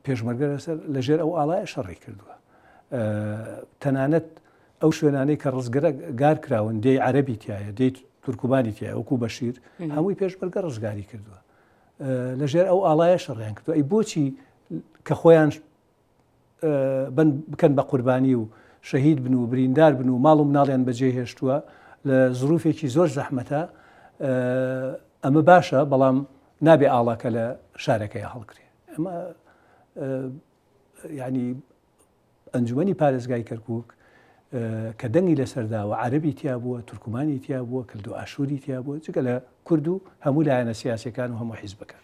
پێشمەرگە لەسەر لەژێر ئەو ئاڵایە شەڕی کردووە. تەنانەت ئەو شوێنانەی کە ڕزگرە گار کراون دێی عەرەبی تایە دێی تورکمانی تایە وەکو بەشیر هەمووی پێشمەرگە ڕزگاری کردووە لەژێر ئەو ئاڵایە شەڕیان کردووە ئەی بۆچی کە خۆیان بن بکەن بە قوربانی و شەهید بن و بریندار بن و ماڵ و مناڵیان بەجێ هێشتووە لە زروفێکی زۆر زەحمەتە ئەمە باشە بەڵام نابێ ئاڵاکە لە شارەکەی هەڵکرێ ئەمە ینی ئەنجومی پارێزگای کەرکک کە دەنگی لەسەرداوە عەربی تیا بووە تورکمانی تیا بووە کلدو ئاشووری تیا بووە جگە لە کورد و هەموو لایەنە سیاسەکان و هەموو حیزبەکان.